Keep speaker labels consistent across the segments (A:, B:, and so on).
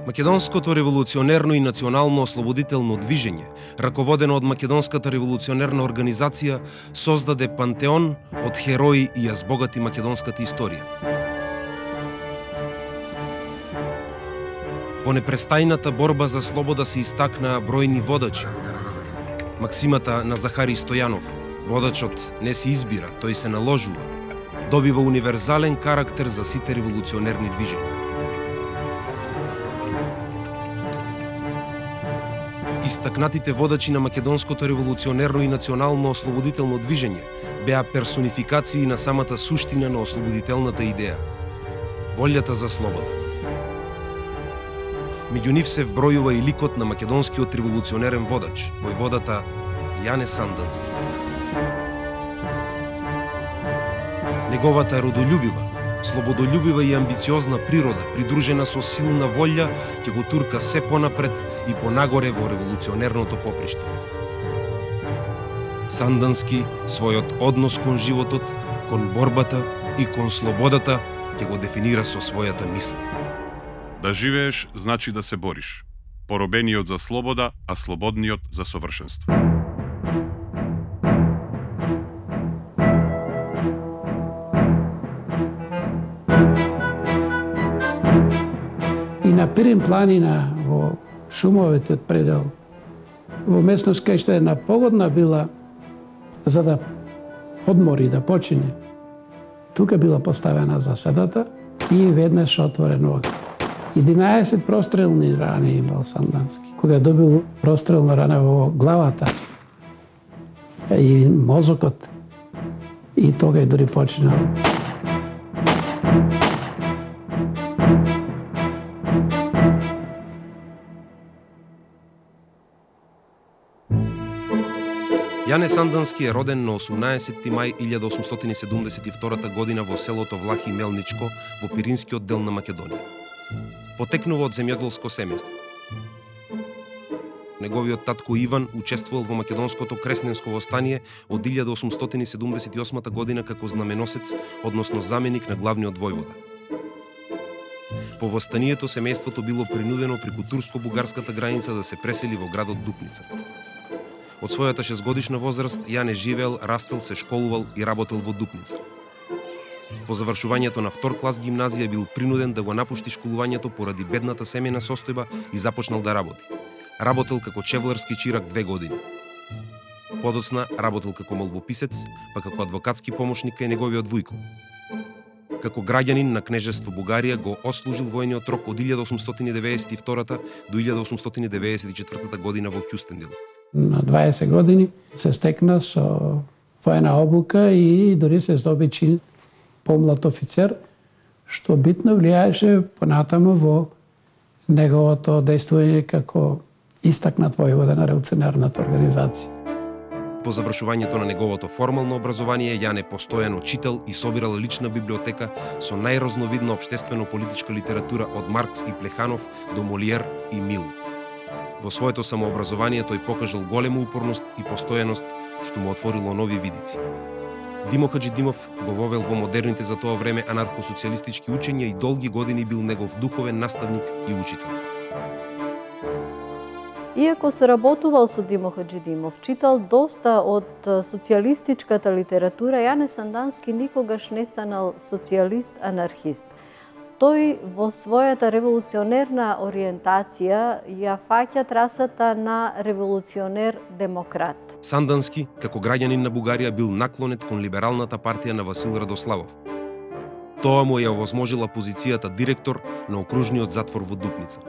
A: Македонското револуционерно и национално ослободително движење, раководено од Македонската револуционерна организација, создаде пантеон од херои и ја збогати македонската историја. Во непрестајната борба за слобода се истакнаа бројни водачи. Максимата на Захари Стојанов, водачот не се избира, тој се наложува, добива универзален карактер за сите револуционерни движења. Истакнатите водачи на македонското револуционерно и национално ослободително движење беа персонификации на самата суштина на ослободителната идеја – волјата за слобода. Меѓу нив се вбројува и ликот на македонскиот револуционерен водач, војводата Јане Сандански. Неговата родолюбива, слободолюбива и амбициозна природа, придружена со силна волја, ќе го турка се понапред и понагоре во револуционерното поприште. Сандански својот однос кон животот, кон борбата и кон слободата ќе го дефинира со својата мисла.
B: Да живееш значи да се бориш. Поробениот за слобода, а слободниот за совршенство.
C: И на Пирин планина во шумовете од предел, во местност кај што една погодна била за да одмори, да почине. Тука била поставена заседата и веднаш отворен оган. 11 прострелни рани имал Сандански. Кога добил прострелна рана во главата и мозокот, и тога дори починал.
A: Јане Сандански е роден на 18 мај 1872 година во селото Влахи Мелничко во Пиринскиот дел на Македонија. Потекнува од земјоделско семејство. Неговиот татко Иван учествувал во македонското кресненско востание од 1878 година како знаменосец, односно заменик на главниот војвода. По востанието семејството било принудено преку турско-бугарската граница да се пресели во градот Дупница. Од својата 6-годишна возраст Јане живеел, растел, се школувал и работел во Дупница. По завршувањето на втор клас гимназија бил принуден да го напушти школувањето поради бедната семејна состојба и започнал да работи. Работел како чевларски чирак 2 години. Подоцна работел како молбописец, па како адвокатски помошник кај неговиот вујко. Како граѓанин на кнежество Бугарија го отслужил војниот рок од 1892 до 1894 година во Кюстендил.
C: На 20 години се стекна со војна обука и дори се здоби чин помлад офицер, што битно влијаеше понатаму во неговото действување како истакнат војвода на револуционерната организација.
A: По завршувањето на неговото формално образование, Јане постојано читал и собирал лична библиотека со најразновидна општествено-политичка литература од Маркс и Плеханов до Молиер и Мил. Во своето самообразование тој покажал голема упорност и постојаност, што му отворило нови видици. Димо Хаджидимов го вовел во модерните за тоа време анархосоцијалистички учења и долги години бил негов духовен наставник и учител.
D: Иако соработувал со Димо Хаджидимов, читал доста од социјалистичката литература, Јане Сандански никогаш не станал социјалист-анархист. Тој во својата револуционерна ориентација ја фаќа трасата на револуционер-демократ.
A: Сандански, како граѓанин на Бугарија, бил наклонет кон либералната партија на Васил Радославов. Тоа му ја овозможила позицијата директор на окружниот затвор во Дупница.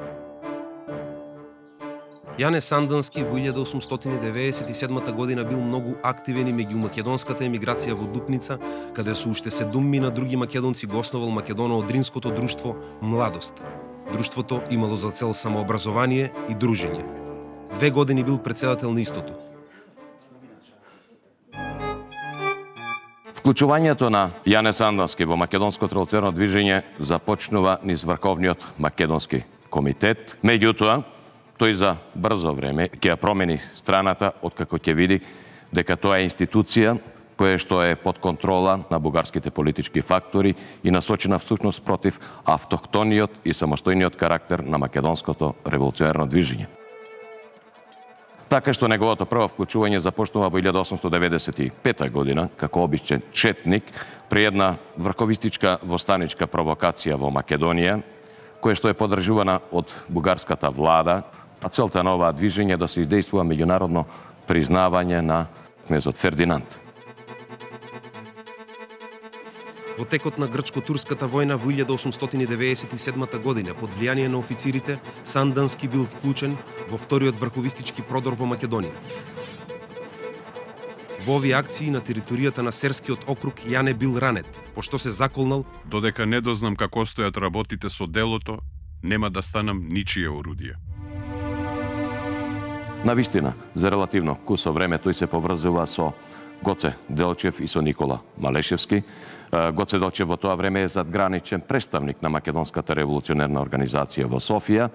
A: Јане Сандански во 1897 година бил многу активен и меѓу македонската емиграција во Дупница, каде со уште 7 други македонци го основал македоно-одринското друштво Младост. Друштвото имало за цел самообразование и дружење. 2 години бил претседател на истото.
E: Вклучувањето на Јане Сандански во македонското револуционерно движење започнува низ Врховниот македонски комитет. Меѓутоа, тој за брзо време ќе ја промени страната откако ќе види дека тоа е институција кое што е под контрола на бугарските политички фактори и насочена всушност против автохтониот и самостојниот карактер на македонското револуционерно движење. Така што неговото прво вклучување започнува во 1895 година како обичен четник при една врховистичка востаничка провокација во Македонија, која што е поддржувана од бугарската влада, а целта на оваа движење да се издействува меѓународно признавање на кнезот Фердинанд.
A: Во текот на грчко-турската војна во 1897 година под влијание на официрите, Сандански бил вклучен во вториот врховистички продор во Македонија. Во овие акции на територијата на Серскиот округ Јане бил ранет, пошто се заколнал.
B: Додека не дознам како стојат работите со делото, нема да станам ничие орудие.
E: Навистина, за релативно кусо време тој се поврзува со Гоце Делчев и со Никола Малешевски. Гоце Делчев во тоа време е задграничен представник на Македонската револуционерна организација во Софија.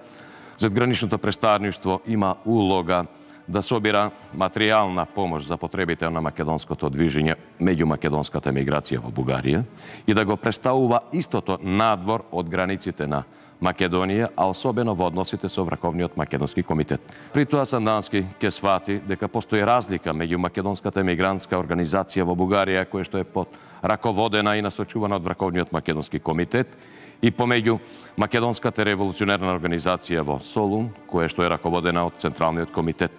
E: Задграничното представништво има улога да собира материјална помош за потребите на македонското движење меѓу македонската емиграција во Бугарија и да го представува истото надвор од границите на Македонија, а особено во односите со Врховниот македонски комитет. При тоа Сандански ќе свати дека постои разлика меѓу македонската емигрантска организација во Бугарија, која што е под раководена и насочувана од Врховниот македонски комитет, и помеѓу Македонската револуционерна организација во Солун, која што е раководена од Централниот комитет.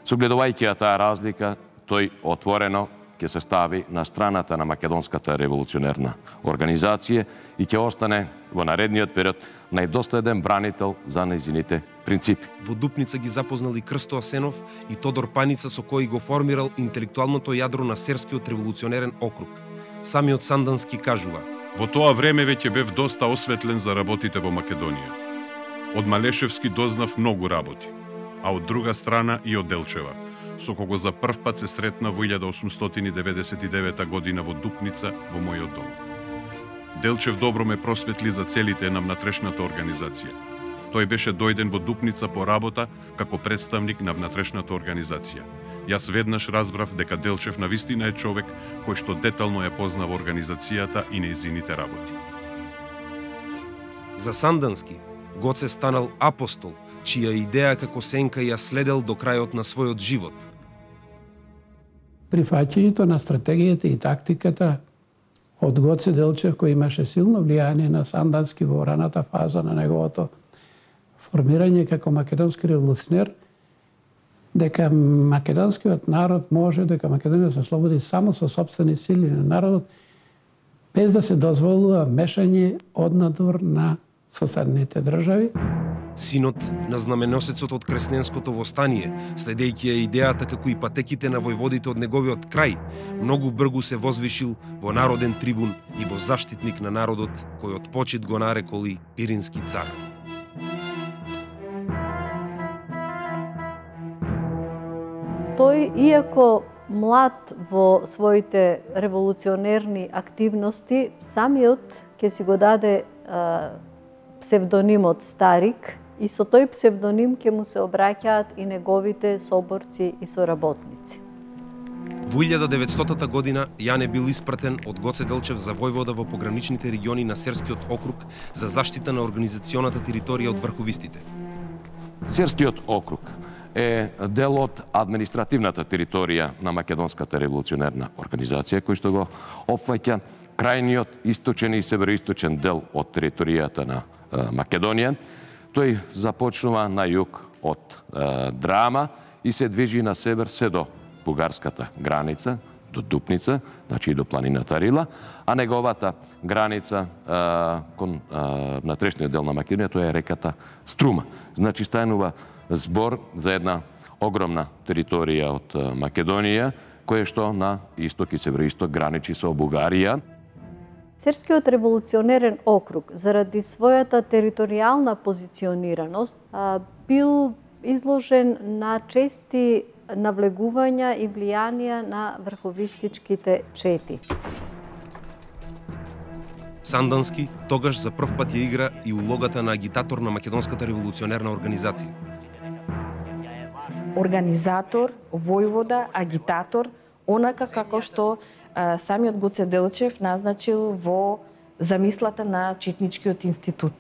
E: Согледувајќи таа разлика, тој отворено ќе се стави на страната на Македонската револуционерна организација и ќе остане во наредниот период најдоследен бранител за нејзините принципи.
A: Во Дупница ги запознал и Крсто Асенов и Тодор Паница, со кои го формирал интелектуалното јадро на Серскиот револуционерен округ. Самиот Сандански кажува:
B: Во тоа време веќе бев доста осветлен за работите во Македонија. Од Малешевски дознав многу работи, а од друга страна и од Делчева, со кого за прв пат се сретна во 1899 година во Дупница во мојот дом. Делчев добро ме просветли за целите на внатрешната организација. Тој беше дојден во Дупница по работа како представник на внатрешната организација. Јас веднаш разбрав дека Делчев навистина е човек кој што детално ја познава организацијата и нејзините работи.
A: За Сандански, Гоце станал апостол, чија идеја како сенка ја следел до крајот на својот живот.
C: Прифаќањето на стратегијата и тактиката од Гоце Делчев, кој имаше силно влијание на Сандански во раната фаза на неговото формирање како македонски револуционер, дека македонскиот народ може, дека Македонија се слободи само со сопствени сили на народот, без да се дозволува мешање однадвор на соседните држави.
A: Синот на знаменосецот од Кресненското востание, следејќи ја идејата како и патеките на војводите од неговиот крај, многу бргу се возвишил во народен трибун и во заштитник на народот, кој од почит го нареколи Пирински цар.
D: Тој, иако млад во своите револуционерни активности, самиот ќе си го даде псевдонимот Старик и со тој псевдоним ќе му се обраќаат и неговите соборци и соработници.
A: Во 1900 година Јане бил испратен од Гоце Делчев за војвода во пограничните региони на Серскиот округ за заштита на организационата територија од врховистите.
E: Серскиот округ е дел од административната територија на Македонската револуционерна организација, кој што го опфаќа крајниот источен и североисточен дел од територијата на Македонија. Тој започнува на југ од Драма и се движи на север се до бугарската граница, до Дупница, значи и до планината Рила, а неговата граница кон внатрешниот дел на Македонија, тоа е реката Струма. Значи станува збор за една огромна територија од Македонија, која што на исток и североисток граничи со Бугарија.
D: Серскиот револуционерен округ, заради својата територијална позиционираност, бил изложен на чести навлегувања и влијанија на врховистичките чети.
A: Сандански тогаш за прв пат ја игра и улогата на агитатор на Македонската револуционерна организација.
F: Организатор, војвода, агитатор, онака како што самиот Гоце Делчев назначил во замислата на Четничкиот институт.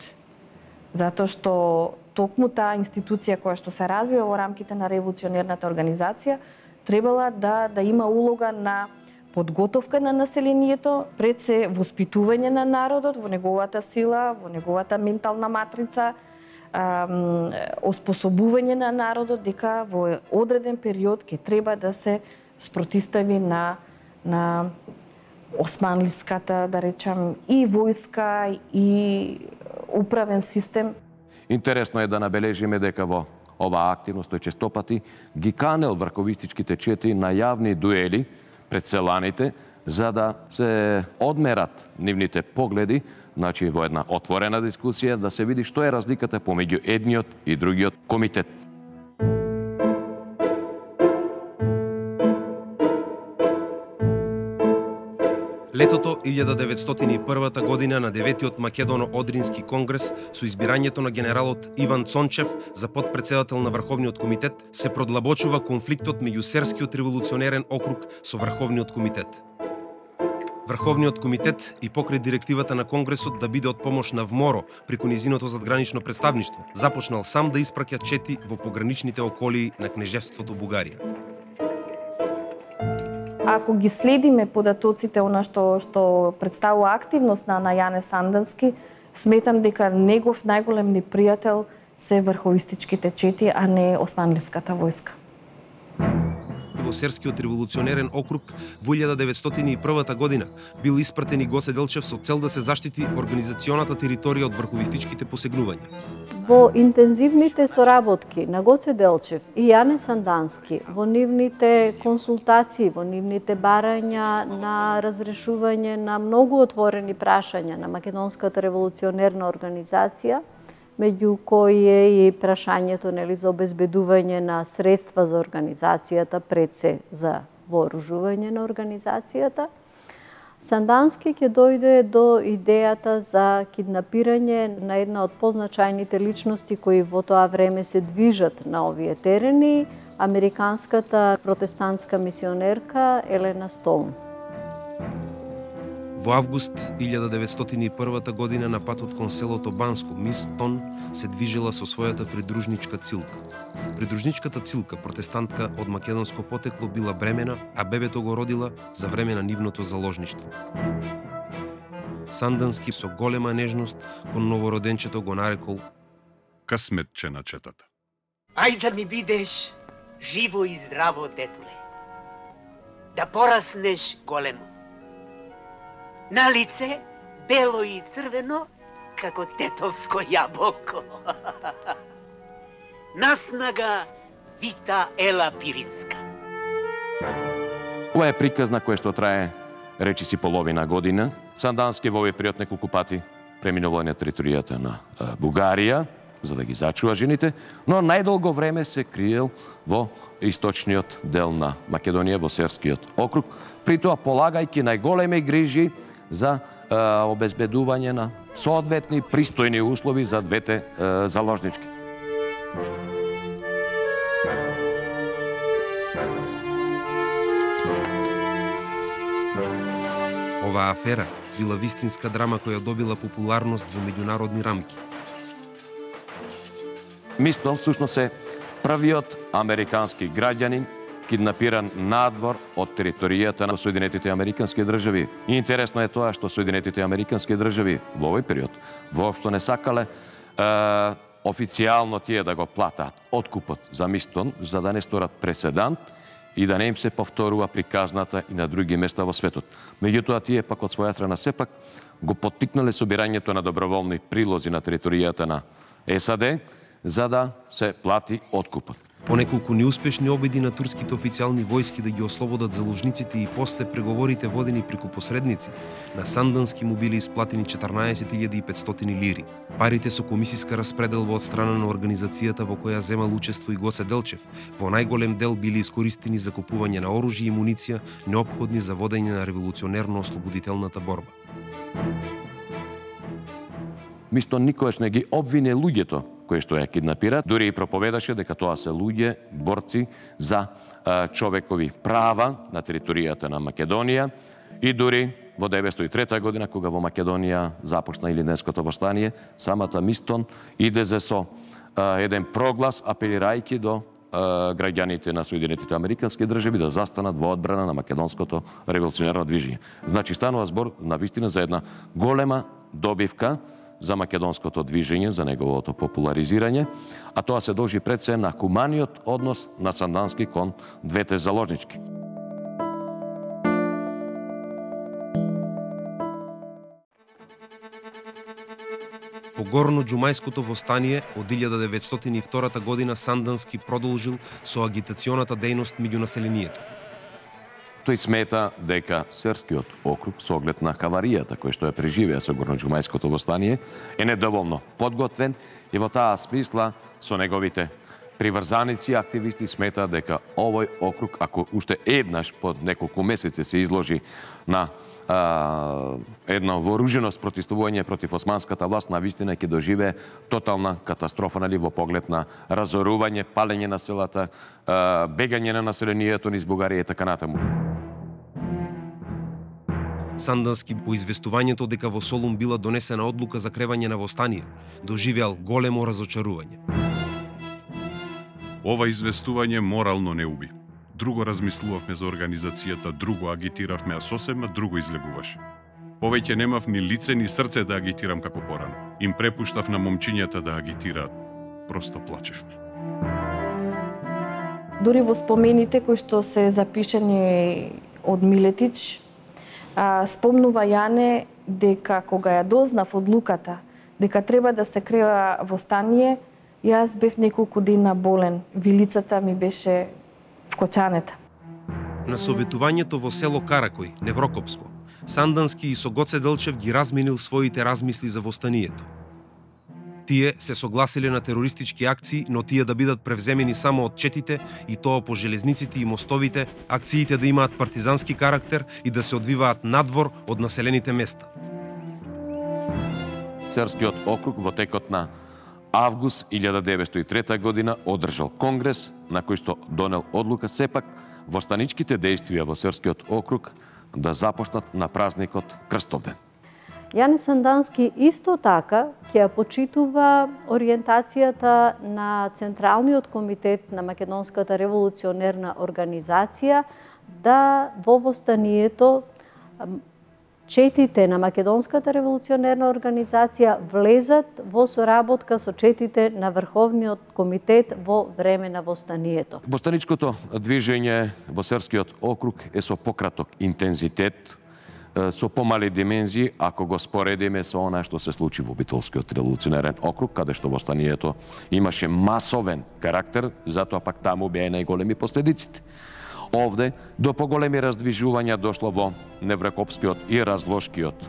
F: Затоа што токму таа институција која што се развива во рамките на револуционерната организација требала да има улога на подготовка на населението, пред се воспитување на народот во неговата сила, во неговата ментална матрица, оспособување на народот дека во одреден период ќе треба да се спротистави на османлиската, да речам, и војска и управен систем.
E: Интересно е да набележиме дека во оваа активност тој честопати ги канел врховистичките чети на јавни дуели пред селаните, за да се одмерат нивните погледи, значи во една отворена дискусија, да се види што е разликата помеѓу едниот и другиот комитет.
A: Летото 1901 година на 9-тиот Македоно-Одрински конгрес со избирањето на генералот Иван Цончев за подпредседател на Врховниот комитет се продлабочува конфликтот меѓу Серскиот револуционерен округ со Врховниот комитет. Врховниот комитет и покрај директивата на Конгресот да биде од помош на ВМОРО преку низиното задгранично представништво, започнал сам да испраќа чети во пограничните околии на кнежевството Бугарија.
F: Ако ги следиме податоците, она што представува активност на Јане Сандански, сметам дека негов најголем непријател се врховистичките чети, а не османлиската војска.
A: Во Серскиот револуционерен округ во 1901 година бил испратен и Гоце Делчев со цел да се заштити организационата територија од врховистичките посегнувања.
D: Во интензивните соработки на Гоце Делчев и Јане Сандански, во нивните консултации, во нивните барања на разрешување на многу отворени прашања на Македонската револуционерна организација, меѓу кои е и прашањето за обезбедување на средства за организацијата, пред се за вооружување на организацијата, Сандански ќе дојде до идејата за киднапирање на една од позначајните личности кои во тоа време се движат на овие терени, американската протестантска мисионерка Елена Стоун.
A: Во август 1901 година на патот кон селото Банско, мис Тон се движела со својата придружничка Цилка. Придружничката Цилка, протестантка од македонско потекло, била бремена, а бебето го родила за време на нивното заложништво. Сандански со голема нежност кон новороденчето го нарекол
B: късметче на четата.
G: Ајде да ми бидеш живо и здраво, детуле. Да пораснеш големо. На лице бело и црвено, како тетовско јаболко. Наснага Вита Ела Пиринска.
E: Ова е приказна која што трае речиси половина година. Сандански во овој период неколку пати преминува на територијата на Бугарија, за да ги зачува жените, но најдолго време се криел во источниот дел на Македонија, во Серскиот округ, при тоа полагајќи најголеми грижи за обезбедување на соодветни пристојни услови за двете заложнички.
A: Оваа афера била вистинска драма која добила популарност во меѓународни рамки.
E: Мисто всушност е првиот американски граѓанин киднапиран надвор од територијата на Соединетите Американски држави. И интересно е тоа што Соединетите Американски држави во овој период воопшто не сакале официјално тие да го платат откупот за Мистон, за да не сторат преседант и да не им се повторува приказната и на други места во светот. Меѓутоа, тие пак од своја страна сепак го поттикнале собирањето на доброволни прилози на територијата на САД, за да се плати откупот.
A: По неколку неуспешни обиди на турските официјални војски да ги ослободат заложниците и после преговорите водени преку посредници, на Сандански му били исплатени 14.500 лири. Парите со комисиска распределба од страна на организацијата во која земал учество и Гоце Делчев, во најголем дел били искористени за купување на оружје и муниција, неопходни за водење на револуционерно-ослободителната борба.
E: Мистон никогаш не ги обвине луѓето кои што ја киднапираат, дури и проповедаше дека тоа се луѓе борци за човекови права на територијата на Македонија И дури во 1903 година, кога во Македонија започна Илинденското востание, самата Мистон иде со еден проглас апелирајќи до граѓаните на Соединетите Американски држави да застанат во одбрана на македонското револуционерно движење. Значи станува збор навистина за една голема добивка за македонското движење, за неговото популаризирање, а тоа се должи пред се на хуманиот однос на Сандански кон двете заложнички.
A: По горно-џумајското востание од 1902 година Сандански продолжил со агитационата дејност меѓу населението.
E: Тој смета дека Серскиот округ со оглед на хаваријата која што ја преживеа со горно-џумајското востание е недоволно подготвен и во таа смисла со неговите приврзаници и активисти смета дека овој округ, ако уште еднаш по неколку месеци се изложи на едно вооружено спротивствување против османската власт, навистина ќе доживее тотална катастрофа во поглед на разорување, палење на селата, бегање на населението низ Бугарија и така натаму.
A: Сандански по известувањето дека во Солун била донесена одлука за кревање на востание, доживеал големо разочарување.
B: Ова известување морално не уби. Друго размислувавме за организацијата, друго агитиравме, а сосема друго излегуваше. Повеќе немав ни лице ни срце да агитирам како порано. Им препуштав на момчињата да агитираат. Просто плачевме.
F: Дури во спомените кои што се запишани од Милетич, спомнува Јане дека кога ја дознав одлуката дека треба да се крева востание, јас бев неколку дена болен. Вилицата ми беше вкочанета.
A: На советувањето во село Каракој, Неврокопско, Сандански и со Гоце Делчев ги разменил своите размисли за востанието. Тие се согласиле на терористички акции, но тие да бидат превземени само од четите и тоа по железниците и мостовите, акциите да имаат партизански карактер и да се одвиваат надвор од населените места.
E: Церскиот округ во текот на август 1903 година одржал конгрес на кој што донел одлука сепак востаничките дејствија во Церскиот округ да започнат на празникот Крстовден.
D: Јане Сандански исто така ќе ја почитува ориентацијата на Централниот комитет на Македонската револуционерна организација да во востанието четите на Македонската револуционерна организација влезат во соработка со четите на Врховниот комитет во време на востанието.
E: Востаничкото движење во Церскиот округ е со пократок интензитет, со помали димензии, ако го споредиме со она што се случи во Битолскиот револуционерен округ, каде што востанието имаше масовен карактер, затоа пак таму беа најголеми последиците. Овде до поголеми раздвижувања дошло во Неврокопскиот и Разложкиот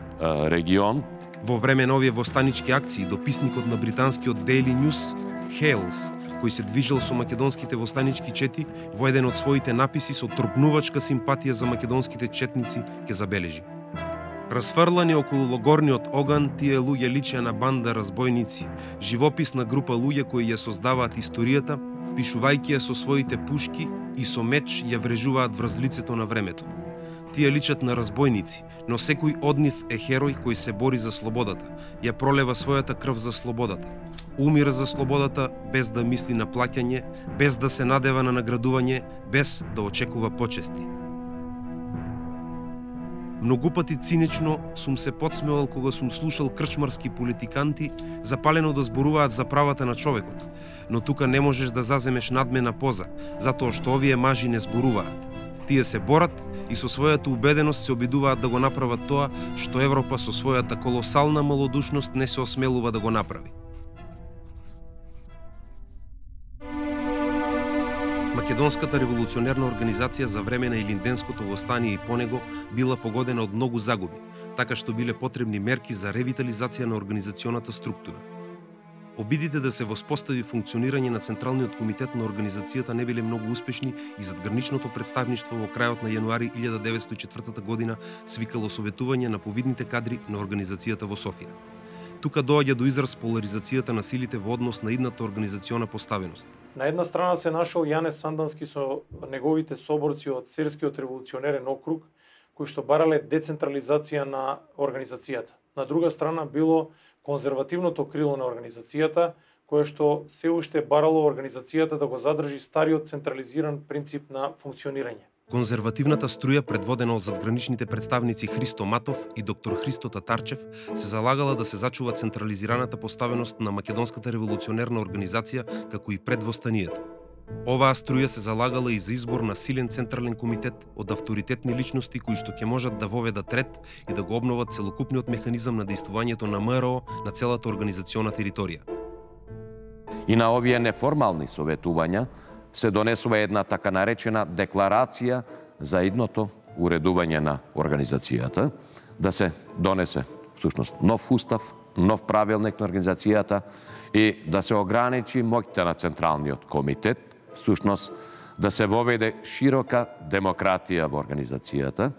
E: регион.
A: Во време на овие востанички акции, дописникот на британскиот Daily News, Hales, кој се движел со македонските востанички чети, во еден од своите написи со тргнувачка симпатија за македонските четници, ќе забележи: разфрлани околу логорниот оган, тие луѓе личеа на банда разбойници, живописна група луѓе кои ја создаваат историјата, пишувајќи ја со своите пушки и со меч ја врежуваат врз лицето на времето. Тие личат на разбойници, но секој од нив е херој кој се бори за слободата, ја пролева својата крв за слободата. Умира за слободата без да мисли на плаќање, без да се надева на наградување, без да очекува почести. Многу пати цинично сум се подсмевал кога сум слушал крчмарски политиканти запалено да зборуваат за правата на човекот, но тука не можеш да заземеш надмена поза, затоа што овие мажи не зборуваат. Тие се борат и со својата убеденост се обидуваат да го направат тоа што Европа со својата колосална малодушност не се осмелува да го направи. Македонската револуционерна организација за време на Илинденското востание и по него била погодена од многу загуби, така што биле потребни мерки за ревитализација на организационата структура. Обидите да се воспостави функционирање на Централниот комитет на организацијата не биле многу успешни и задграничното представништво во крајот на јануари 1904 година свикало советување на повидните кадри на организацијата во Софија. Тука доаѓа до израз поларизацијата на силите во однос на идната организациона поставеност.
H: На една страна се нашол Јане Сандански со неговите соборци од Церскиот револуционерен округ, кои што барале децентрализација на организацијата. На друга страна било конзервативното крило на организацијата, кое што се уште барало организацијата да го задржи стариот централизиран принцип на функционирање.
A: Конзервативната струја, предводена од задграничните представници Христо Матов и доктор Христо Татарчев, се залагала да се зачува централизираната поставеност на Македонската револуционерна организација, како и пред востанието. Оваа струја се залагала и за избор на силен централен комитет од авторитетни личности кои што ќе можат да воведат ред и да го обноват целокупниот механизам на дејствувањето на МРО на целата организациона територија.
E: И на овие неформални советувања се донесува една така наречена декларација за идното уредување на организацијата, да се донесе всушност нов устав, нов правилник на организацијата и да се ограничи моќта на Централниот комитет, всушност да се воведе широка демократија во организацијата,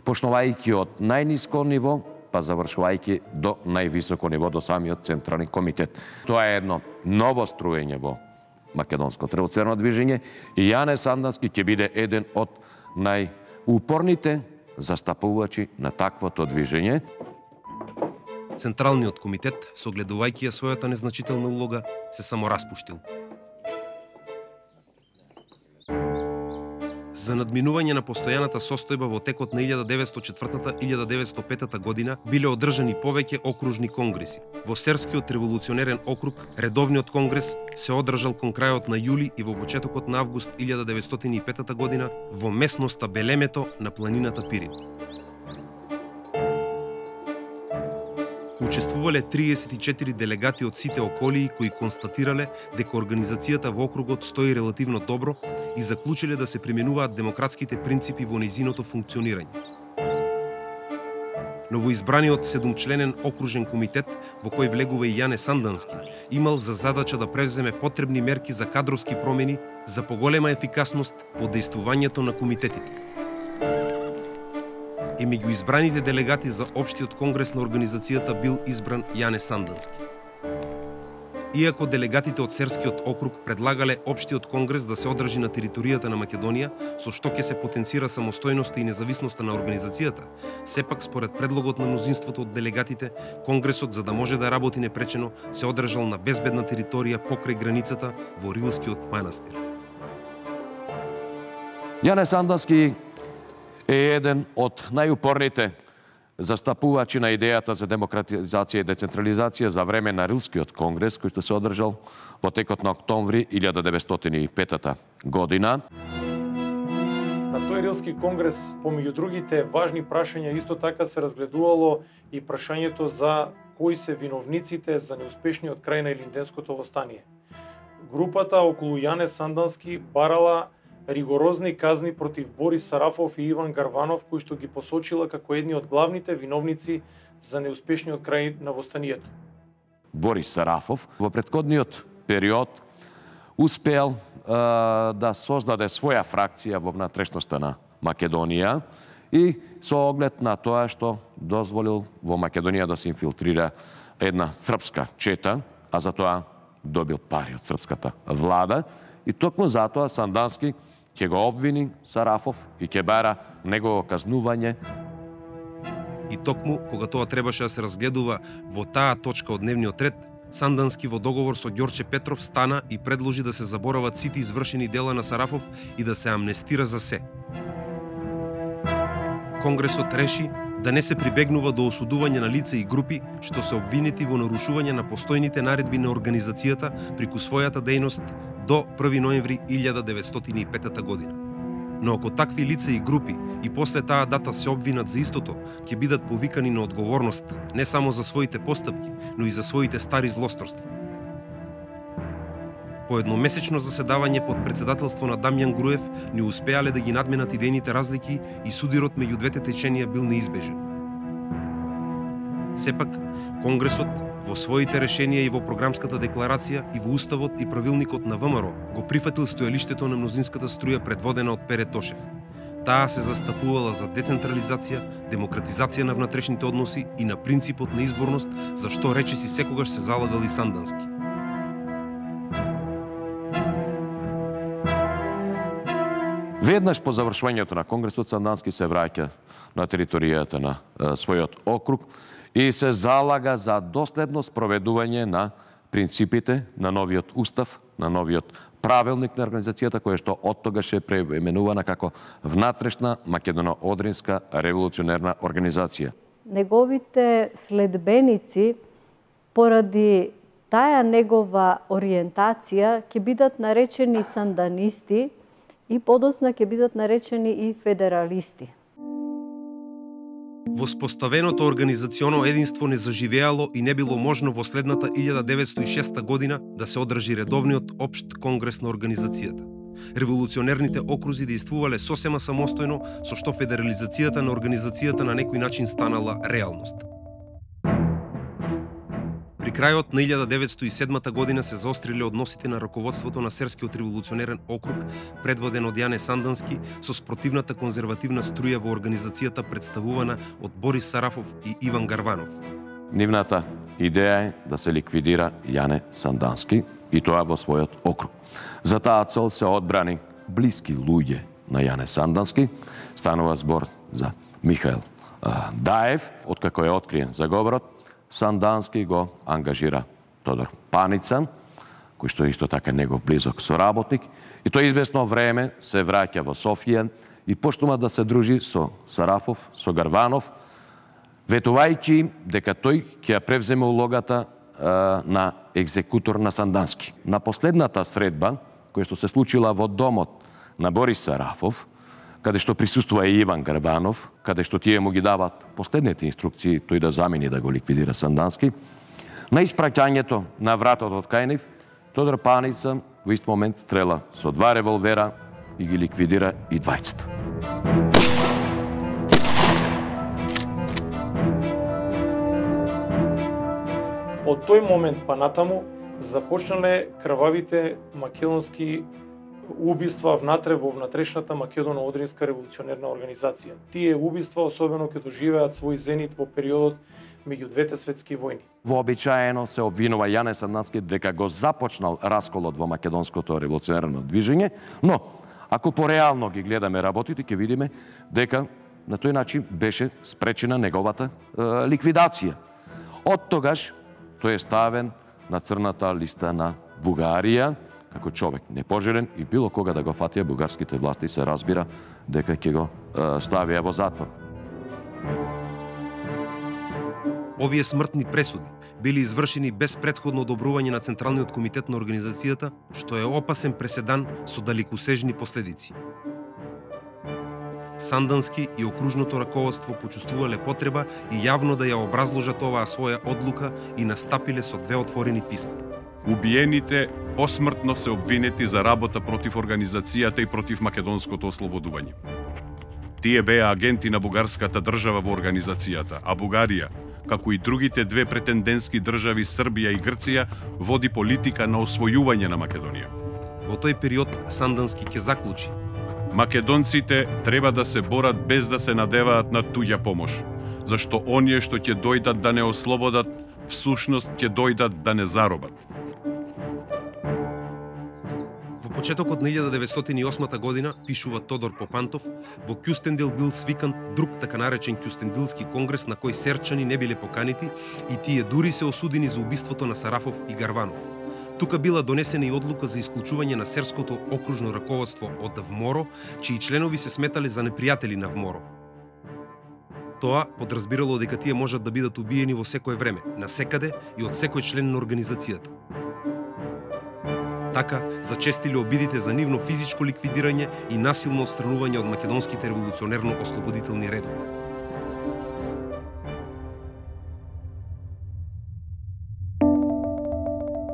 E: почнувајќи од најниско ниво, па завршувајќи до највисоко ниво, до самиот Централен комитет. Тоа е едно ново струење во македонското револуционерно движење и Јане Сандански ќе биде еден од најупорните застапувачи на таквото движење.
A: Централниот комитет, согледувајќи ја својата незначителна улога, се самораспуштил. За надминување на постојаната состојба во текот на 1904-1905 година биле одржани повеќе окружни конгреси. Во Серскиот револуционерен округ, редовниот конгрес се одржал кон крајот на јули и во почетокот на август 1905 година во местноста Белемето на планината Пирин. Учествувале 34 делегати од сите околии кои констатирале дека организацијата во округот стои релативно добро и заклучиле да се применуваат демократските принципи во нејзиното функционирање. Новоизбраниот 7-членен окружен комитет, во кој влегува и Јане Сандански, имал за задача да превземе потребни мерки за кадровски промени за поголема ефикасност во дејствувањето на комитетите. И меѓу избраните делегати за Општиот конгрес на организацијата бил избран Јане Сандански. Иако делегатите од Серскиот округ предлагале Општиот конгрес да се одржи на територијата на Македонија, со што ќе се потенцира самостојноста и независноста на организацијата, сепак според предлогот на мнозинството од делегатите, конгресот, за да може да работи непречено, се одржал на безбедна територија покрај границата во Рилскиот манастир.
E: Јане Сандански е еден од најупорните застапувачи на идејата за демократизација и децентрализација за време на Рилскиот конгрес, кој што се одржал во текот на октомври 1905 година.
H: На тој Рилски конгрес, помеѓу другите важни прашања, исто така се разгледувало и прашањето за кои се виновниците за неуспешниот крај на Илинденското востание. Групата околу Јане Сандански барала ригорозни казни против Борис Сарафов и Иван Гарванов, кои што ги посочила како едни од главните виновници за неуспешниот крај на востанието.
E: Борис Сарафов во претходниот период успеал да создаде своја фракција во внатрешноста на Македонија и со оглед на тоа што дозволил во Македонија да се инфилтрира една српска чета, а за тоа добил пари од српската влада. И токму затоа Сандански ќе го обвини Сарафов и ќе бара негово казнување.
A: И токму, кога тоа требаше да се разгледува во таа точка од дневниот ред, Сандански во договор со Ѓорче Петров стана и предложи да се заборават сите извршени дела на Сарафов и да се амнестира за се. Конгресот реши да не се прибегнува до осудување на лица и групи што се обвинети во нарушување на постојните наредби на организацијата преку својата дејност до 1 ноември 1905 година. Но ако такви лица и групи и после таа дата се обвинат за истото, ќе бидат повикани на одговорност не само за своите постапки, но и за своите стари злосторства. По едномесечно заседавање под председателство на Дамјан Груев не успеале да ги надменат идејните разлики и судирот меѓу двете теченија бил неизбежен. Сепак, Конгресот во своите решенија и во програмската декларација и во уставот и правилникот на ВМРО го прифатил стојалиштето на мнозинската струја предводена од Пере Тошев. Таа се застапувала за децентрализација, демократизација на внатрешните односи и на принципот на изборност, за што речиси секогаш се залагал и Сандански.
E: Веднаш по завршувањето на Конгресот, Сандански се враќа на територијата на својот округ и се залага за доследно спроведување на принципите на новиот устав, на новиот правилник на организацијата, која што оттогаш е преименувана како Внатрешна македоно-одринска револуционерна организација.
D: Неговите следбеници, поради таа негова ориентација, ќе бидат наречени санданисти и подосна ќе бидат наречени и федералисти.
A: Воспоставеното организационо единство не заживеало и не било можно во следната 1906 година да се одржи редовниот општ конгрес на организацијата. Револуционерните окрузи действувале сосема самостојно, со што федерализацијата на организацијата на некој начин станала реалност. При крајот на 1907 година се заостриле односите на раководството на Серскиот револуционерен округ, предводен од Јане Сандански, со спротивната конзервативна струја во организацијата представувана од Борис Сарафов и Иван Гарванов.
E: Нивната идеја е да се ликвидира Јане Сандански и тоа во својот округ. За таа цел се одбрани блиски луѓе на Јане Сандански. Станува збор за Михаил Даев, откако е откриен заговорот. Сандански го ангажира Тодор Паница, кој што исто така негов близок соработник, и тој известно време се враќа во Софија и почнува да се дружи со Сарафов, со Гарванов, ветувајќи дека тој ќе ја превземе улогата на екзекутор на Сандански. На последната средба, која што се случила во домот на Борис Сарафов, каде што присуствува и Иван Гарбанов, каде што тие му ги дават последните инструкции тој да замени да го ликвидира Сандански, на испраќањето на вратот од кај нив, Тодор Паница во ист момент стрела со 2 револвера и ги ликвидира и двајцата.
H: Од тој момент па натаму започнале крвавите македонски убиства внатре во внатрешната македоно-одринска револуционерна организација. Тие убиства особено ќе доживеат свој зенит во периодот меѓу двете светски војни.
E: Вообичаено се обвинува Јане Сандански дека го започнал расколот во македонското револуционерно движење, но ако пореално ги гледаме работите, ќе видиме дека на тој начин беше спречена неговата ликвидација. Од тогаш тој е ставен на црната листа на Бугарија, како човек непожелен и било кога да го фатија бугарските власти се разбира дека ќе го ставија во затвор.
A: Овие смртни пресуди били извршени без претходно одобрување на Централниот комитет на организацијата, што е опасен преседан со далекосежни последици. Сандански и окружното раководство почувствувале потреба и јавно да ја образложат оваа своја одлука и настапиле со 2 отворени писма.
B: Убиените посмртно се обвинети за работа против организацијата и против македонското ослободување. Тие беа агенти на бугарската држава во организацијата, а Бугарија, како и другите 2 претендентски држави Србија и Грција, води политика на освојување на Македонија.
A: Во тој период Сандански ќе заклучи:
B: македонците треба да се борат без да се надеваат на туѓа помош, зашто оние што ќе дојдат да не ослободат, всушност ќе дојдат да не заробат.
A: Во почетокот на 1908 година, пишува Тодор Попантов, во Кјустендил бил свикан друг така наречен Кјустендилски конгрес на кој серчани не биле поканити и тие дури се осудени за убиството на Сарафов и Гарванов. Тука била донесена и одлука за исклучување на серското окружно раководство од ВМОРО, чии членови се сметале за непријатели на ВМОРО. Тоа подразбирало дека тие можат да бидат убиени во секое време, на секаде и од секој член на организацијата. Така зачестиле обидите за нивно физичко ликвидирање и насилно отстранување од македонските револуционерно-ослободителни редови.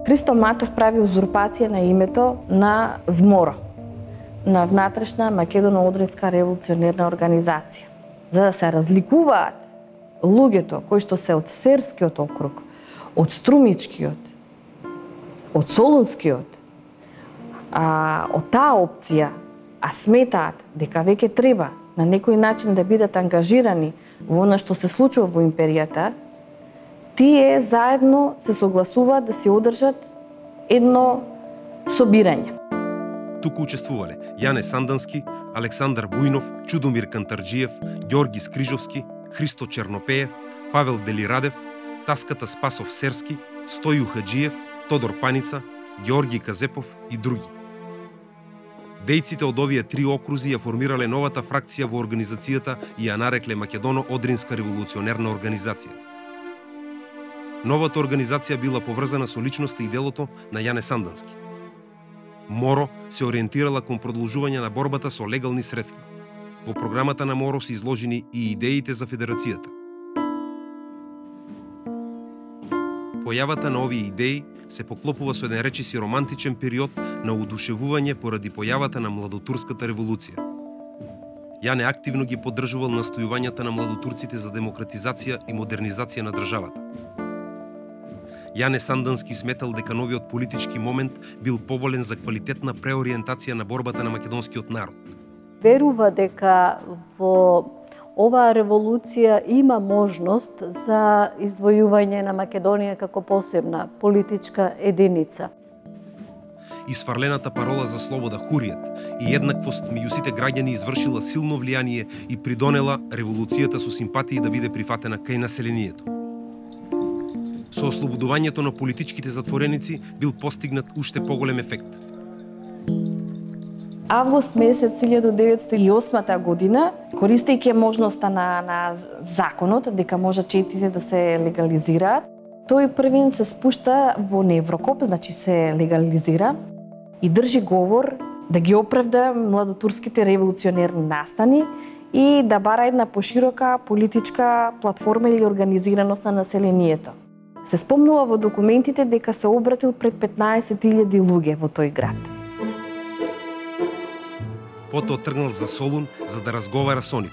F: Христо Матов прави узурпација на името на ВМОРО, на Внатрешна македоно-одринска револуционерна организација, за да се разликуваат луѓето кои што се од Серскиот округ, од Струмичкиот, од Солунскиот, од таа опција, а сметаат дека веќе треба на некој начин да бидат ангажирани во она што се случува во империјата, тие заедно се согласуваат да се одржат едно собирање.
A: туку учествувале Јане Сандански, Александар Бујнов, Чудомир Кантарџиев, Ѓорги Скрижовски, Христо Чернопеев, Павел Делирадев, Таската Спасов Серски, Стоју Хаджиев, Тодор Паница, Ѓорги Казепов и други. Дејците од овие три окрузи ја формирале новата фракција во организацијата и ја нарекле Македоно-Одринска револуционерна организација. Новата организација била поврзана со личноста и делото на Јане Сандански. МОРО се ориентирала кон продолжување на борбата со легални средства. Во програмата на МОРО се изложени и идеите за федерацијата. Појавата на овие идеи се поклопува со еден речиси романтичен период на удушевување поради појавата на младотурската револуција. Јане активно ги поддржувал настојувањата на младотурците за демократизација и модернизација на државата. Јане Сандански сметал дека новиот политички момент бил поволен за квалитетна преориентација на борбата на македонскиот народ.
D: Верува дека во оваа револуција има можност за издвојување на Македонија како посебна политичка единица.
A: Исфарлената парола за слобода, хуријат и еднаквост меѓу сите граѓани извршила силно влијание и придонела револуцијата со симпатии да биде прифатена кај населението. Со ослободувањето на политичките затвореници бил постигнат уште поголем ефект.
F: Август месец 1908 година, користејќи можноста на законот дека може четите да се легализираат, тој првин се спушта во Неврокоп, значи се легализира и држи говор да ги оправда младотурските револуционерни настани и да бара една поширока политичка платформа или организираност на населението. Се спомнува во документите дека се обратил пред 15.000 луѓе во тој град.
A: Потоа тргнал за Солун за да разговара со нив.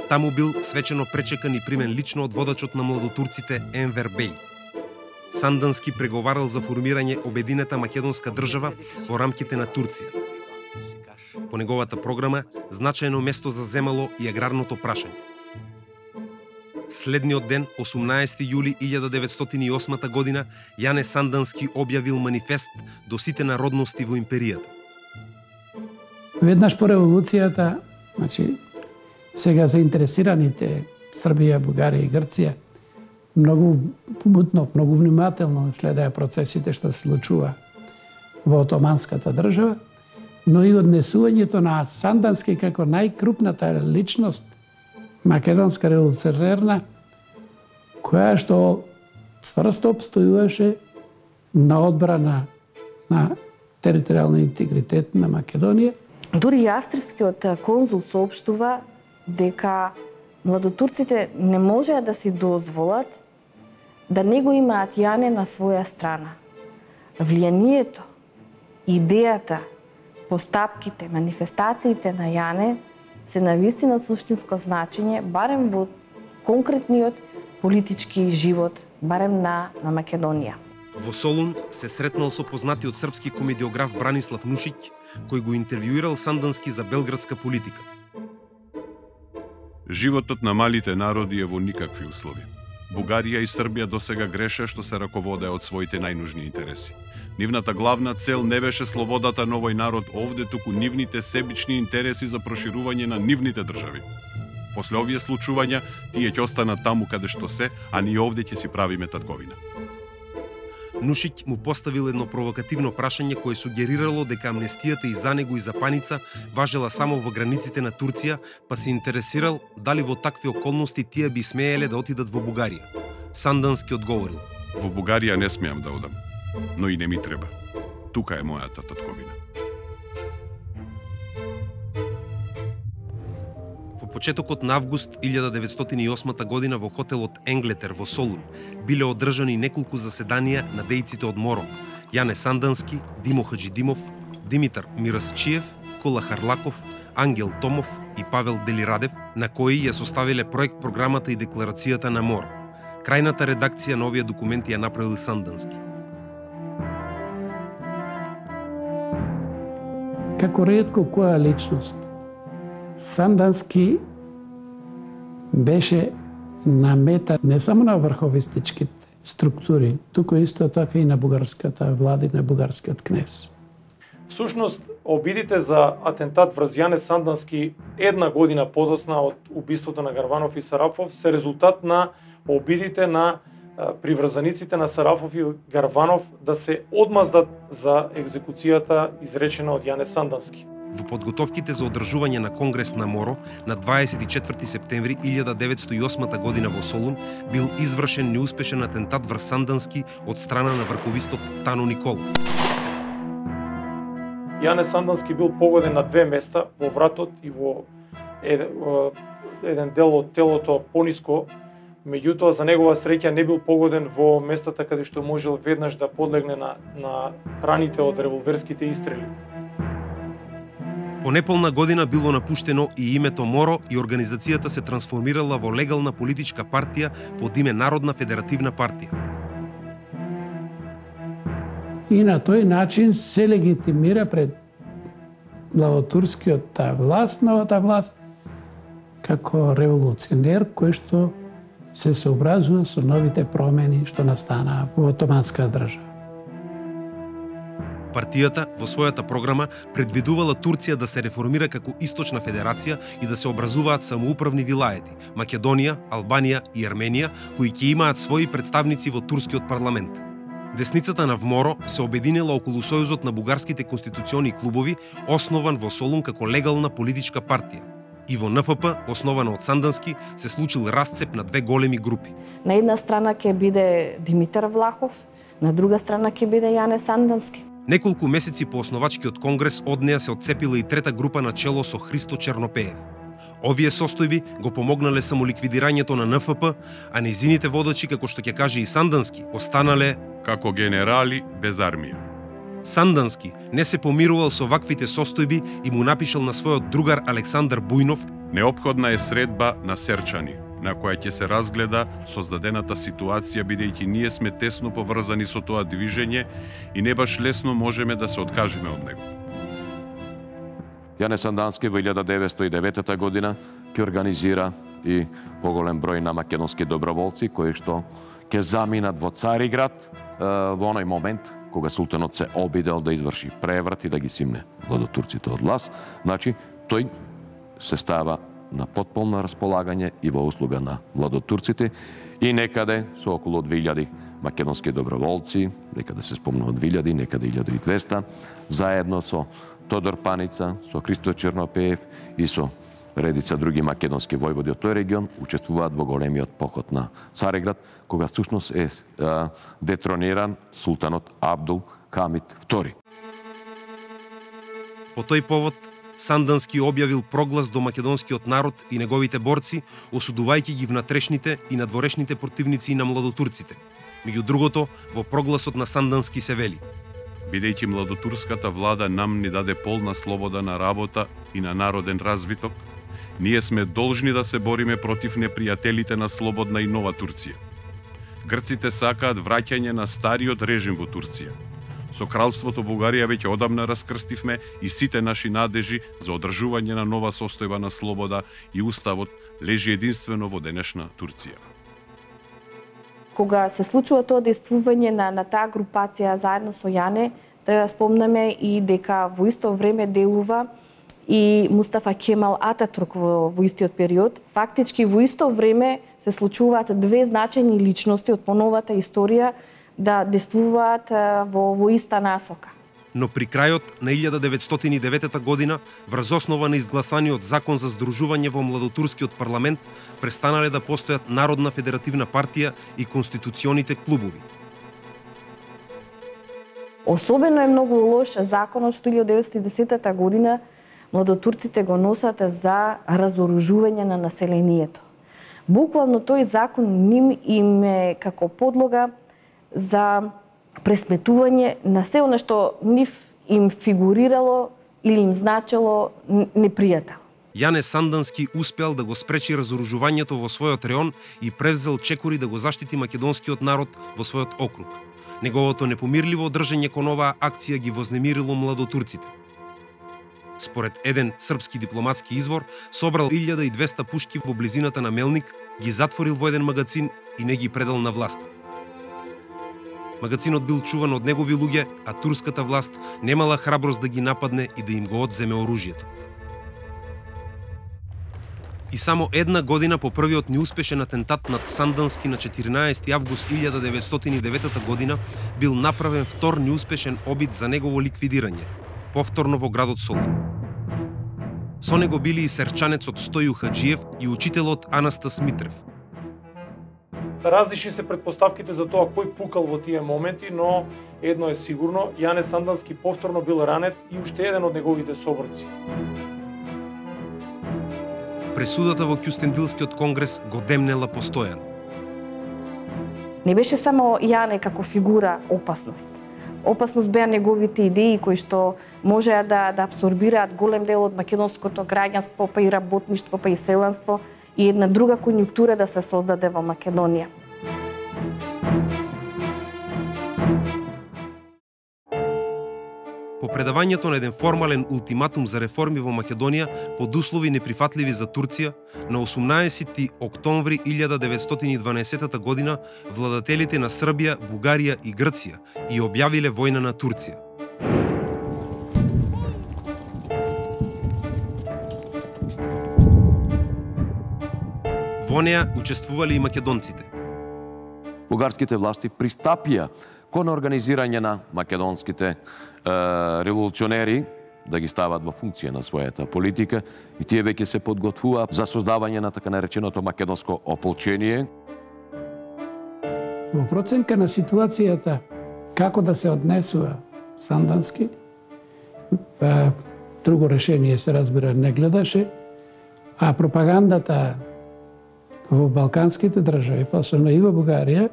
A: Таму бил свечено пречекан и примен лично од водачот на младотурците Енвер Беј. Сандански преговарал за формирање обединета македонска држава во рамките на Турција. Во неговата програма значајно место заземало и аграрното прашање. Следниот ден, 18 јули 1908 година, Јане Сандански објавил манифест до сите народности во империјата.
C: Веднаш по револуцијата, значи, сега заинтересираните Србија, Бугарија и Грција многу мутно, многу внимателно следеа процесите што се случува во Отоманската држава, но и однесувањето на Сандански како најкрупната личност македонска револуционерна, која што цврсто обстојуваше на одбрана на територијален интегритет на Македонија.
F: Дури и австрискиот конзул соопштува дека младотурците не можеа да си дозволат да не го имаат Јане на своја страна. Влијанието, идејата, постапките, манифестациите на Јане се навистина суштинско значење, барем во конкретниот политички живот, барем на Македонија.
A: Во Солун се сретнал со познатиот српски комедиограф Бранислав Нушиќ, кој го интервјуирал Сандански за белградска политика.
B: Животот на малите народи е во никакви услови. Бугарија и Србија досега греше што се раководеа од своите најнужни интереси. Нивната главна цел не беше слободата на овој народ овде, туку нивните себични интереси за проширување на нивните држави. После овие случувања, тие ќе останат таму каде што се, а ние овде ќе си правиме татковина.
A: Нушиќ му поставил едно провокативно прашање кое сугерирало дека амнестијата и за него и за Паница важела само во границите на Турција, па се интересирал дали во такви околности тие би смееле да отидат во Бугарија. Сандански одговорил:
B: Во Бугарија не смеам да одам, но и не ми треба. Тука е мојата татковина.
A: Во почетокот на август 1908 година во хотелот Енглетер во Солун биле одржани неколку заседанија на дејците од МОРО: Јане Сандански, Димо Хаджидимов, Димитар Мирасчиев, Кола Харлаков, Ангел Томов и Павел Делирадев, на кои ја составиле проект програмата и декларацијата на МОРО. Крајната редакција на овие документи ја направил Сандански.
C: Како ретко која личност, Сандански беше на мета не само на врховистичките структури, туку исто така и на бугарската влада и на бугарскиот кнез.
H: Всушност, обидите за атентат врз Јане Сандански една година подоцна од убиството на Гарванов и Сарафов се резултат на обидите на приврзаниците на Сарафов и Гарванов да се одмаздат за екзекуцијата изречена од Јане Сандански.
A: Во подготовките за одржување на Конгрес на Моро на 24 септември 1908 година во Солун бил извршен неуспешен атентат врз Сандански од страна на врховистот Тано Николов.
H: Јане Сандански бил погоден на две места, во вратот и во еден дел од телото пониско. Меѓутоа, за негова среќа не бил погоден во местата каде што можел веднаш да подлегне на раните од револверските истрели.
A: По неполна година било напуштено и името Моро и организацијата се трансформирала во легална политичка партија под име Народна федеративна партија.
C: И на тој начин се легитимира пред младотурскиот власт, новата власт, како револуционер кој што се сообразува со новите промени што настанаа во Отоманска држава.
A: Партијата во својата програма предвидувала Турција да се реформира како Источна федерација и да се образуваат самоуправни вилаети – Македонија, Албанија и Арменија, кои ќе имаат своји представници во турскиот парламент. Десницата на ВМОРО се обединила околу Сојузот на бугарските конституциони клубови, основан во Солун како легална политичка партија. И во НФП, основана од Сандански, се случил расцеп на две големи групи.
F: На една страна ќе биде Димитар Влахов, на друга страна ќе биде Јане Сандански.
A: Неколку месеци по основачкиот конгрес од неа се отцепила и трета група на чело со Христо Чернопеев. Овие состојби го помогнале само ликвидирањето на НФП, а нејзините водачи, како што ќе каже и Сандански, останале
B: како генерали без армија.
A: Сандански не се помирувал со ваквите состојби и му напишал на својот другар Александар Бујнов:
B: Неопходна е средба на Серчани, на која ќе се разгледа создадената ситуација, бидејќи ние сме тесно поврзани со тоа движење и не баш лесно можеме да се откажеме од него.
E: Јане Сандански во 1909 година ќе организира и поголем број на македонски доброволци кои што ќе заминат во Цариград во оној момент кога султанот се обидел да изврши преврат и да ги симне владотурците од власт. Значи, тој се става на потполно располагање и во услуга на владотурците и некаде со околу 2000 македонски доброволци, некаде се спомнува 2000, некаде 1200, заедно со Тодор Паница, со Христо Чернопеев и со редица други македонски војводи од тој регион учествуваат во големиот поход на Цариград, кога всушност е детрониран султанот Абдул Хамид II.
A: По тој повод, Сандански објавил проглас до македонскиот народ и неговите борци, осудувајќи ги внатрешните и надворешните противници на младотурците. Меѓу другото, во прогласот на Сандански се вели:
B: Бидејќи младотурската влада нам ни даде полна слобода на работа и на народен развиток, ние сме должни да се бориме против непријателите на слободна и нова Турција. Грците сакаат враќање на стариот режим во Турција. Со кралството Бугарија веќе одамна раскрстивме и сите наши надежи за одржување на нова состојба на слобода и уставот лежи единствено во денешна Турција.
F: Кога се случува тоа действување на таа групација заедно со Јане, треба да спомнеме и дека во исто време делува и Мустафа Кемал Ататурк во истиот период. Фактички во исто време се случуваат две значајни личности од поновата историја да действуваат во иста насока.
A: Но при крајот на 1909 година, врз основа на изгласаниот закон за здружување во младотурскиот парламент, престанале да постојат Народна федеративна партија и конституционите клубови.
F: Особено е многу лош законот што 1910 година младотурците го носат за разоружување на населението. Буквално тој закон им е како подлога за пресметување на се она што нив им фигурирало или им значело непријател.
A: Јане Сандански успеал да го спречи разоружувањето во својот реон и превзел чекори да го заштити македонскиот народ во својот округ. Неговото непомирливо држење кон оваа акција ги вознемирило младотурците. Според еден српски дипломатски извор, собрал 1200 пушки во близината на Мелник, ги затворил во еден магазин и не ги предал на власт. Магацинот бил чуван од негови луѓе, а турската власт немала храброст да ги нападне и да им го одземе оружјето. И само една година по првиот неуспешен атентат над Сандански на 14 август 1909 година бил направен втор неуспешен обид за негово ликвидирање, повторно во градот Солун. Со него били и серчанецот Стоју Хаджиев и учителот Анастас Митрев.
H: Различни се претпоставките за тоа кој пукал во тие моменти, но едно е сигурно, Јане Сандански повторно бил ранет и уште еден од неговите соборци.
A: Пресудата во Кюстендилскиот конгрес го демнела постојано.
F: Не беше само Јане како фигура опасност. Опасност беа неговите идеи кои што можеа да абсорбираат голем дел од македонското граѓанство, па и работништво, па и селанство и една друга конјунктура да се создаде во Македонија.
A: По предавањето на еден формален ултиматум за реформи во Македонија под услови неприфатливи за Турција, на 18 октомври 1912 година владателите на Србија, Бугарија и Грција и објавиле војна на Турција. Во неа учествувале и македонците.
E: Бугарските власти пристапија кон организирање на македонските револуционери да ги стават во функција на својата политика и тие веќе се подготвува за создавање на така нареченото македонско ополчение.
C: Во проценка на ситуацијата како да се однесува Сандански, друго решение се разбира не гледаше, а пропагандата во балканските држави, посебно и во Бугарија,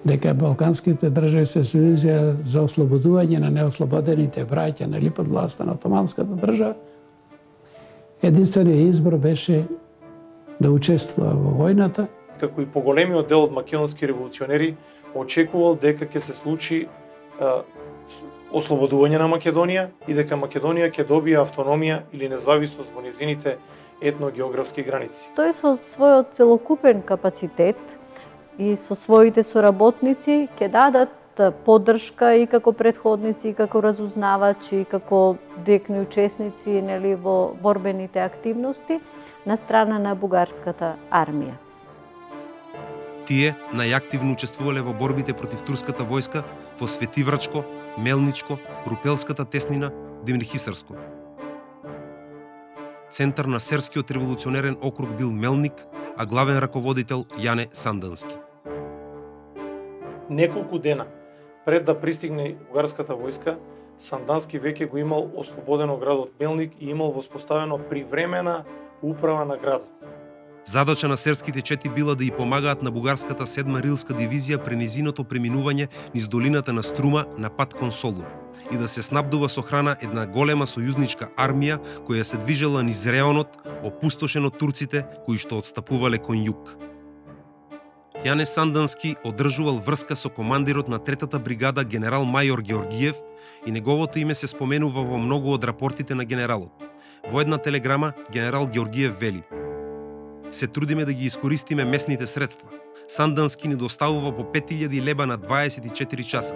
C: дека балканските држави се сојузија за ослободување на неослободените браќа, нели, под власта на Отоманската држава, единствениот избор беше да учествува во војната.
H: Како и поголемиот дел од македонски револуционери очекувал дека ќе се случи ослободување на Македонија и дека Македонија ќе добие автономија или независност во незините етногеографски граници.
D: Тој со својот целокупен капацитет и со своите соработници ќе дадат поддршка и како претходници, и како разузнавачи, и како директни учесници, нели, во борбените активности на страна на бугарската армија.
A: Тие најактивно учествувале во борбите против турската војска во Светиврачко, Мелничко, Рупелската теснина, Демирхисарско. Центар на Серскиот револуционерен округ бил Мелник, а главен раководител Јане Сандански.
H: Неколку дена пред да пристигне бугарската војска, Сандански веќе го имал ослободено градот Мелник и имал воспоставено привремена управа на градот.
A: Задача на серските чети била да и помагаат на бугарската 7 рилска дивизија при низиното преминување низ долината на Струма на пат кон Солун и да се снабдува со храна една голема сојузничка армија која се движела низ реонот, опустошен од турците кои што отстапувале кон југ. Јане Сандански одржувал врска со командирот на 3-та бригада генерал мајор Георгиев и неговото име се споменува во многу од рапортите на генералот. Во една телеграма генерал Георгиев вели: "Се трудиме да ги искористиме местните средства. Сандански ни доставува по 5000 леба на 24 часа."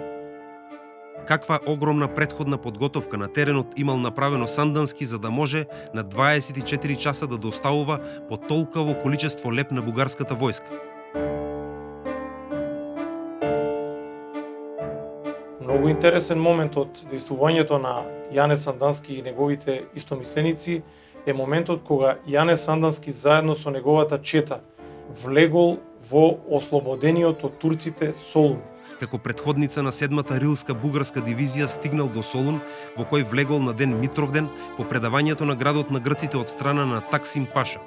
A: Каква огромна претходна подготовка на теренот имал направено Сандански за да може на 24 часа да доставува по толкаво количество леб на бугарската војска?
H: Многу интересен момент од дејствувањето на Јане Сандански и неговите истомисленици е моментот кога Јане Сандански заедно со неговата чета влегол во ослободениот од турците Солун.
A: Како претходница на 7-та рилска бугарска дивизија стигнал до Солун, во кој влегол на ден Митровден по предавањето на градот на грците од страна на Таксим Паша.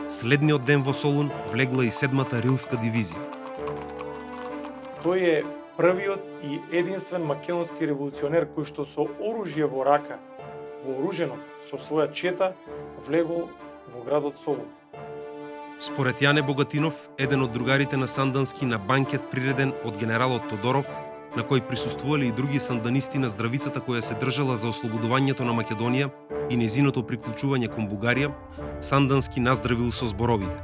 A: Следниот ден во Солун влегла и 7-та рилска дивизија.
H: Тој е првиот и единствен македонски револуционер кој што со оружје во рака, вооружено со своја чета, влегол во градот Солун.
A: Според Јане Богатинов, еден од другарите на Сандански на банкет приреден од генералот Тодоров, на кој присуствувале и други санданисти на здравицата која се држала за ослободувањето на Македонија и незиното приклучување кон Бугарија, Сандански наздравил со зборовите: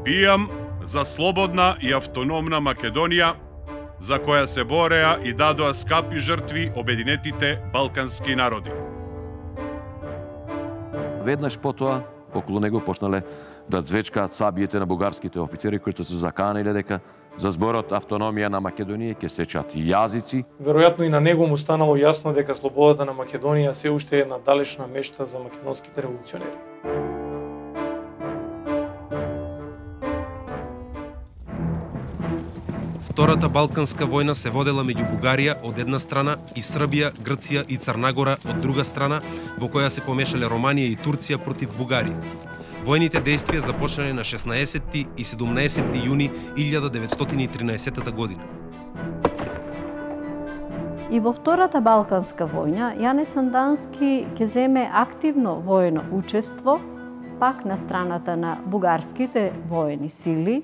B: "Пијам за слободна и автономна Македонија за која се бореа и дадоа скапи жртви обединетите балкански народи.
E: Веднаш потоа, околу него почнале да звечкаат сабиите на бугарските офицери кои се заканиле дека за зборот автономија на Македонија ќе сечат јазици.
H: Веројатно и на него му станало јасно дека слободата на Македонија се уште е една далечна мечта за македонските револуционери.
A: Втората Балканска војна се водела меѓу Бугарија од една страна и Србија, Грција и Црнагора од друга страна, во која се помешале Романија и Турција против Бугарија. Војните дејствија започнале на 16 и 17 јуни 1913 година.
D: И во Втората Балканска војна, Јане Сандански ќе земе активно војно учество, пак на страната на бугарските воени сили.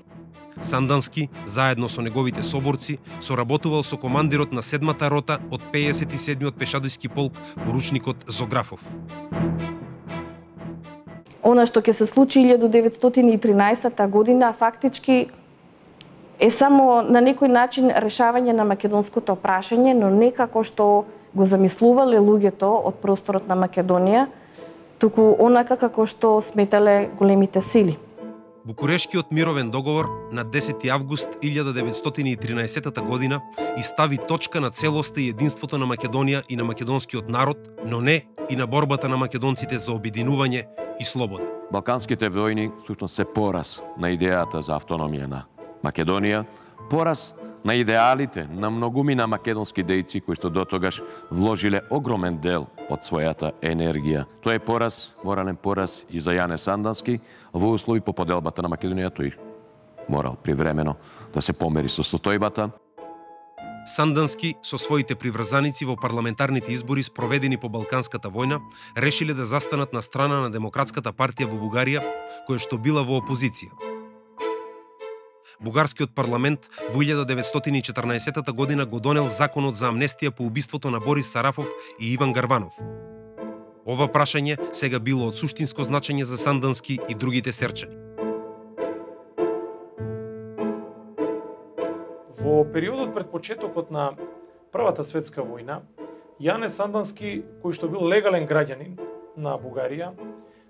A: Сандански, заедно со неговите соборци, соработувал со командирот на 7-та рота од 57-от пешадијски полк, поручникот Зографов.
F: Она што ќе се случи 1913 година фактички е само на некој начин решавање на македонското прашање, но не како што го замислувале луѓето од просторот на Македонија, туку онака како што сметале големите сили.
A: Букурешкиот мировен договор на 10 август 1913 година изстави точка на целоста и единството на Македонија и на македонскиот народ, но не и на борбата на македонците за обединување и слобода.
E: Балканските војни всушност се пораз на идејата за автономија на Македонија, пораз на идеалите на многумина македонски дејци кои што дотогаш вложиле огромен дел од својата енергија. Тоа е пораз, морален пораз и за Јане Сандански, во услови по поделбата на Македонија тој морал привремено да се помери со состојбата.
A: Сандански со своите приврзаници во парламентарните избори спроведени по Балканската војна решиле да застанат на страна на Демократската партија во Бугарија, која што била во опозиција. Бугарскиот парламент во 1914 година го донел законот за амнестија по убиството на Борис Сарафов и Иван Гарванов. Ова прашање сега било од суштинско значење за Сандански и другите серчани.
H: Во периодот пред почетокот на Првата светска војна, Јане Сандански, кој што бил легален граѓанин на Бугарија,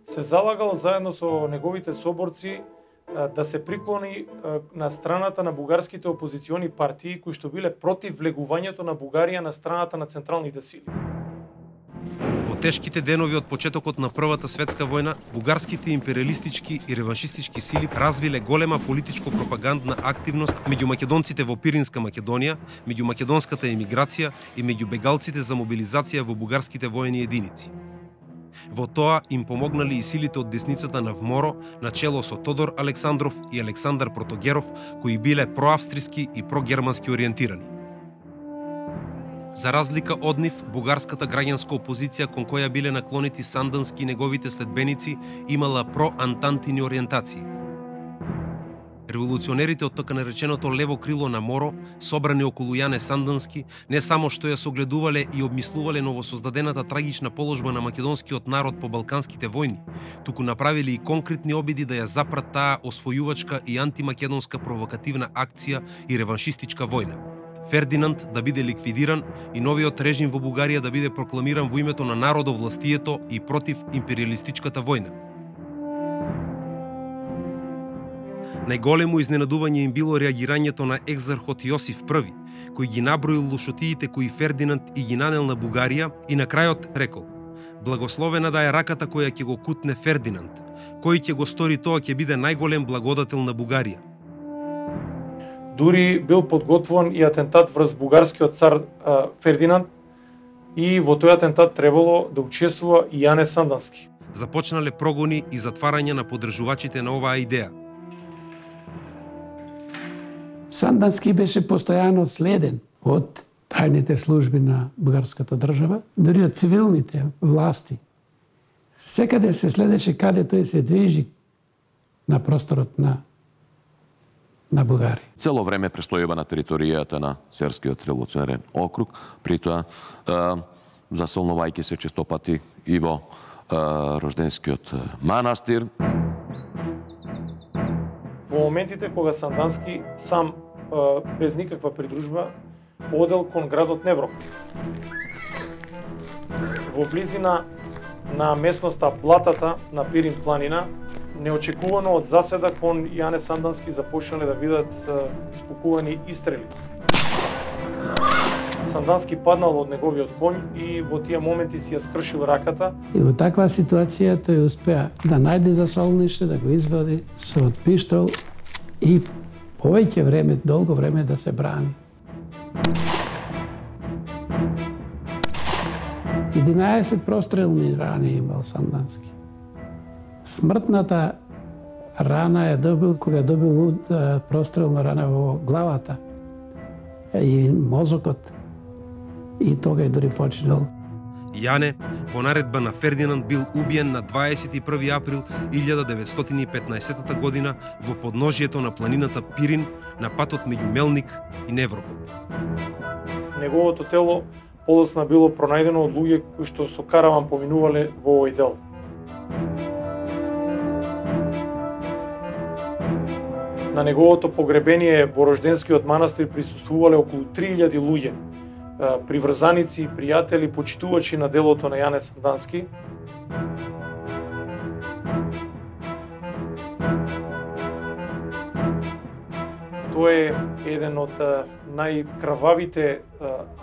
H: се залагал заедно со неговите соборци да се приклони на страната на бугарските опозициони партии кои што биле против влегувањето на Бугарија на страната на централните сили.
A: Во тешките денови од почетокот на Првата светска војна, бугарските империалистички и реваншистички сили развиле голема политичко-пропагандна активност меѓу македонците во Пиринска Македонија, меѓу македонската емиграција и меѓу бегалците за мобилизација во бугарските воени единици. Во тоа им помогнали и силите од десницата на ВМОРО, начело со Тодор Александров и Александар Протогеров, кои биле проавстриски и прогермански ориентирани. За разлика од нив, бугарската граѓанска опозиција кон која биле наклонети Сандански и неговите следбеници имала проантантини ориентации. Револуционерите од така нареченото лево крило на МОРО, собрани околу Јане Сандански, не само што ја согледувале и обмислувале новосоздадената трагична положба на македонскиот народ по балканските војни, туку направиле и конкретни обиди да ја запрат таа освојувачка и антимакедонска провокативна акција и реваншистичка војна. Фердинанд да биде ликвидиран и новиот режим во Бугарија да биде прокламиран во името на народовластието и против империалистичката војна. Најголемо изненадување им било реагирањето на екзархот Јосиф I, кој ги наброил лушотиите кои Фердинанд и ги нанел на Бугарија и на крајот рекол: "Благословена да е раката која ќе го кутне Фердинанд, кој ќе го стори тоа ќе биде најголем благодател на Бугарија."
H: Дури бил подготвуван и атентат врз бугарскиот цар Фердинанд и во тој атентат требало да учествува и Јане Сандански.
A: Започнале прогони и затварање на поддржувачите на оваа идеја.
C: Сандански беше постојано следен од тајните служби на бугарската држава, дури од цивилните власти. Секаде се следеше каде тој се движи на просторот на Бугарија.
E: Цело време престојува на територијата на Серскиот револуционерен округ, при тоа засолнувајќи се честопати и во Рожденскиот манастир.
H: Во моментите кога Сандански сам без никаква придружба одел кон градот Неврок. Во близина на местноста Блатата на Пирин планина, неочекувано од заседа кон Јане Сандански започнале да бидат испукувани истрели. Сандански паднал од неговиот конј и во тие моменти си ја скршил раката.
C: И во таква ситуација тој успеа да најде засолниште, да го извади со пиштол и повеќе време, долго време да се брани. 11 прострелни рани имал Сандански. Смртната рана е добил кога добил прострелна рана во главата и мозокот. И тога е дори починал.
A: Јане, по наредба на Фердинанд, бил убиен на 21 април 1915 година во подножјето на планината Пирин на патот меѓу Мелник и Неврокоп.
H: Неговото тело подоцна било пронајдено од луѓе кои што со караван поминувале во овој дел. На неговото погребение во Рожденскиот манастир присуствувале околу 3000 луѓе, приврзаници, пријатели, почитувачи на делото на Јане Сандански. Тоа е еден од најкрававите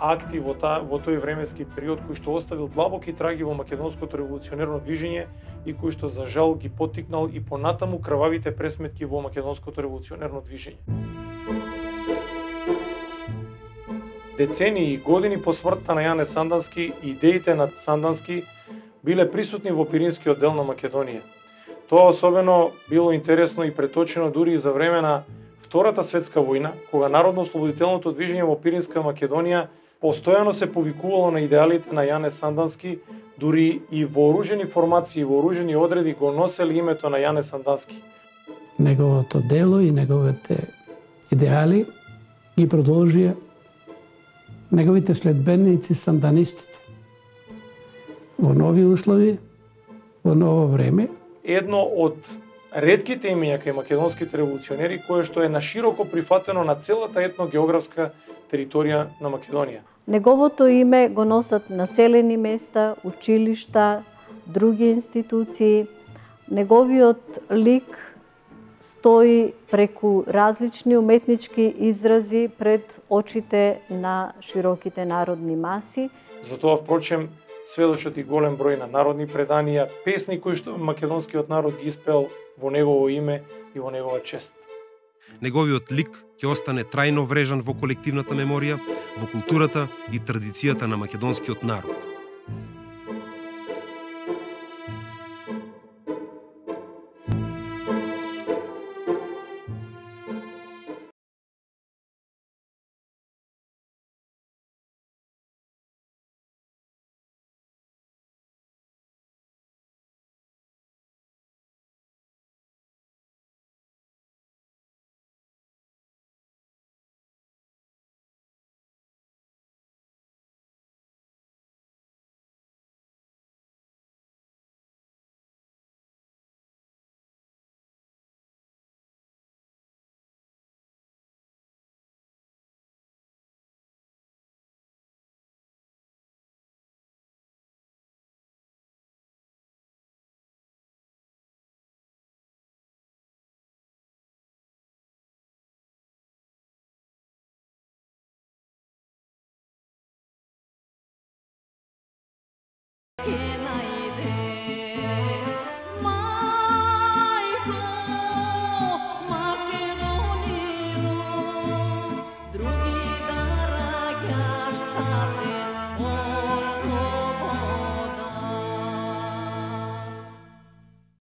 H: акти во тој временски период кој што оставил длабоки траги во македонското револуционерно движење и кој што за жал ги поттикнал и понатаму крававите пресметки во македонското револуционерно движење. Децении и години по смртта на Јане Сандански, идеите на Сандански биле присутни во Пиринскиот дел на Македонија. Тоа особено било интересно и преточено дури и за време на Втората светска војна, кога народно-ослободителното движење во Пиринска Македонија постојано се повикувало на идеалите на Јане Сандански, дури и вооружени формации, вооружени одреди го носели името на Јане Сандански.
C: Неговото дело и неговите идеали ги продолжија неговите следбеници санданистите. Во нови услови, во ново време.
H: Едно од ретките имења кај македонските револуционери кое што е нашироко прифатено на целата етногеографска територија на Македонија.
D: Неговото име го носат населени места, училишта, други институции. Неговиот лик стои преку различни уметнички изрази пред очите на широките народни маси.
H: Затоа, впрочем, сведочат и голем број на народни преданија, песни кои што македонскиот народ ги испеал во негово име и во негова чест.
A: Неговиот лик ќе остане трајно врежан во колективната меморија, во културата и традицијата на македонскиот народ.